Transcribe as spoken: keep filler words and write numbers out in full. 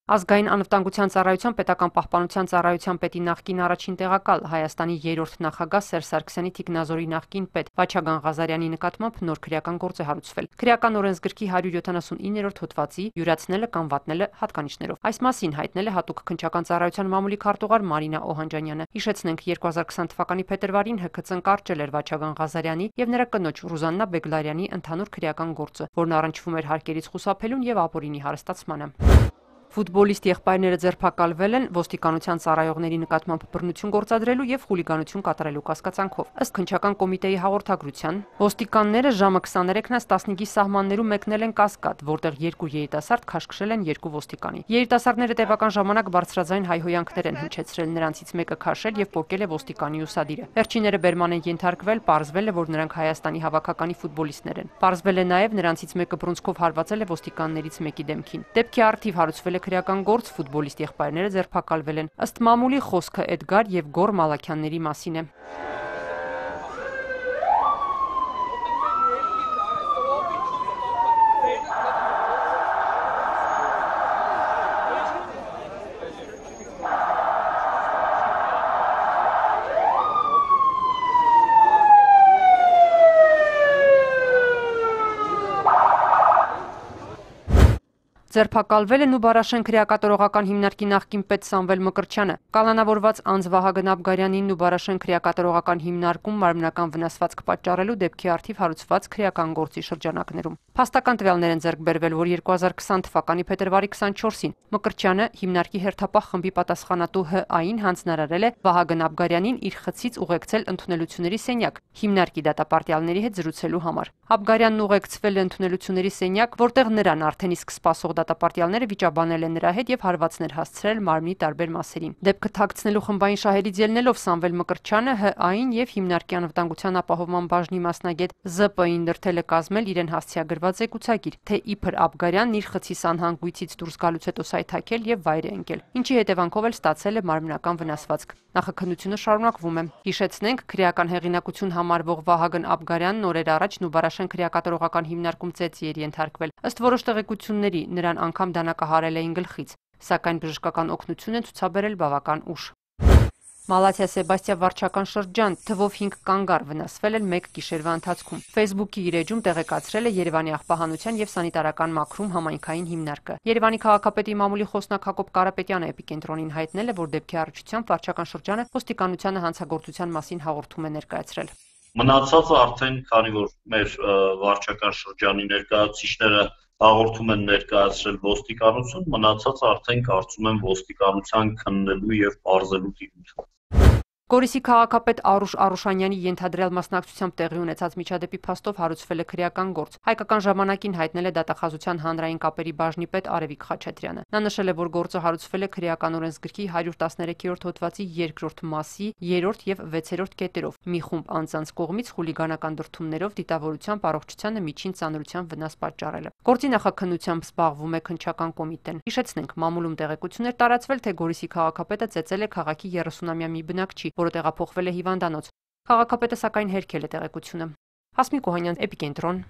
Ազգային անվտանգության ծառայության պետական պահպանության ծառայության պետի նախկին առաջին տեղակալ Հայաստանի երրորդ նախագահ Սերժ Սարգսյանի թիկնազորի նախկին պետ Վաչագան Ղազարյանի նկատմամբ նոր քրեական գործ է հարուցվել։ Քրեական օրենսգրքի հարյուր յոթանասունիններորդ հոդվածի յուրացնելը կամ վատնելը հատկանիշներով։ Այս մասին հայտնել է հատուկ քննչական ծառայության մամուլի քարտուղար Մարինա Օհանջանյանը։ Հիշեցնենք, երկու հազար քսան թվականի փետրվարին ՀՔԾ-ն կարճել էր Վաչագան Ղազարյանի եւ նրա կնոջ Ռուզաննա Բեգլարյանի ընդհանուր քրեական գործը, որն առնչվում էր հարկերից խուսափելուն եւ ապօրինի հարստացմանը։ Ֆուտբոլիստ եղբայրները ձերբակալվել են ոստիկանության ծառայողների նկատմամբ բռնություն գործադրելու եւ խուլիգանություն կատարելու կասկածանքով։ Ըստ քննչական կոմիտեի հաղորդագրության, ոստիկանները ժամը քսաներեքից տասնհինգի սահմաններում մեկնել են Կասկադ, որտեղ երկու երիտասարդ քաշքշել են երկու ոստիկանի։ Երիտասարդները տևական ժամանակ բարձրաձայն հայհոյանքներ են հնչեցրել, նրանցից մեկը քաշել եւ պոկել է ոստիկանի ուսադիրը։ Վերջինները բերման են ենթարկվել, պարզվել է, որ նրանք Հայաստանի հավաքականի ֆուտբոլիստներ են։ Պարզվել է նաեւ նրանցից մեկը բռունցքով հարվածել է ոստիկաններից մեկի դեմքին։ Դեպքի առթիվ հարուցվել է քրեական գործ, ֆուտբոլիստ եղբայրները ձերբակալվել են։ Ըստ մամուլի խոսքը Էդգար եւ Գոր Մալաքյանների մասին է։ Ձերբակալվել է Նուբարաշեն քրեակատարողական հիմնարկի նախկին պետ Սամվել Մկրտչյանը։ Կալանավորված անձ Վահագն Աբգարյանին Նուբարաշեն քրեակատարողական հիմնարկում մարմնական վնասվածք պատճառելու դեպքի առթիվ հարուցված քրեական գործի շրջանակներում։ Փաստական տվյալներ են ձեռք բերվել, որ երկու հազար քսան թվականի փետրվարի քսանչորսին Մկրտչյանը հիմնարկի հերթապահ խմբի պատասխանատու ՀԱ-ին հանձնարարել է Վահագն Աբգարյանին իր խցից ուղեկցել ընդունելությունների սենյակ հիմնարկի դատապարտյալների հետ զրուցելու համար։ Աբգարյանն ուղեկցվել է ընդունելությունների սենյակ, որտեղ նրան արդեն իսկ սպասող դատապարտյալները վիճաբանել են նրա հետ եւ հարվածներ հասցրել մարմնի տարբեր մասերին։ Դեպքը թաքցնելու խմբային շահերից ելնելով Սամվել Մկրտչյանը ՀԱ-ին եւ հիմնարկի անվտանգության ապահովման բաժնի մասնագետ ԶՊ-ին դրդել է կազմել իրեն հասցեագրված զեկուցագիր, թե իբր Աբգարյանն իր խցի սանհանգույցից դուրս գալուց հետո սայթաքել եւ վայր է ընկել, ինչի հետևանքով էլ ստացել է մարմնական վնասվածք։ Նախաքննությունը շարունակվում է։ Հիշեցնենք, քրեական հեղինակություն համարվող Վահագն Աբգարյանն օրեր առաջ Նուբարաշեն քրեակատարողական հիմնարկում ծեծի էր ենթարկվել։ Ըստ որոշ տեղեկությունների, նրան անգամ դանակահարել էին գլխից, սակայն բժշկական օգնություն են ցուցաբերել բավական ուշ։ Մալաթիա Սեբաստիա վարչական շրջան, թվով հինգ կանգար վնասվել են մեկ գիշերվա ընթացքում։ Facebook-ի իր էջում տեղեկացրել է Երևանի աղբահանության եւ սանիտարական մաքրում համայնքային հիմնարկը։ Երևանի քաղաքապետի մամուլի խոսնակ Հակոբ Կարապետյանը Էպիկենտրոնին հայտնել է, որ դեպքի առնչությամբ վարչական շրջանը ոստիկանությանը հանցագործության մասին հաղորդում է ներկայացրել։ Մնացածը արդեն, քանի որ մեր վարչական շրջանի ներկայացուցիչները հաղորդում են ներկայացրել ոստիկանություն, մնացածը արդեն կարծում եմ ոստիկանության քննելու եւ պարզելու տիրույթ։ Գորիսի քաղաքապետ Արուշ Արուշանյանի ենթադրյալ մասնակցությամբ տեղի ունեցած միջադեպի փաստով հարուցվել է քրեական գործ։ Հայկական ժամանակին հայտնել է դատախազության հանրային կապերի բաժնի պետ Արևիկ Խաչատրյանը։ Նա նշել է, որ գործը հարուցվել է քրեական օրենսգրքի հարյուր տասներեքերորդ հոդվածի երկրորդ մասի երրորդ եւ վեցերորդ կետերով մի խումբ անձանց կողմից խուլիգանական դրդումներով դիտավորությամբ առողջությանը միջին ծանրության վնաս պատճառելը։ Գործի նախաքննությամբ զբաղվում է քննչական կոմիտեն։ Հիշեցնենք, մամուլում տեղեկություններ տարածվել, թե Գորիսի քաղաքապետը ծեծել է քաղաքի երեսունամյա մի բնակչի, որը տեղափոխվել է հիվանդանոց։ Քաղաքապետը սակայն հերքել է տեղեկությունը։ Հասմիկ Օհանյան, Էպիկենտրոն։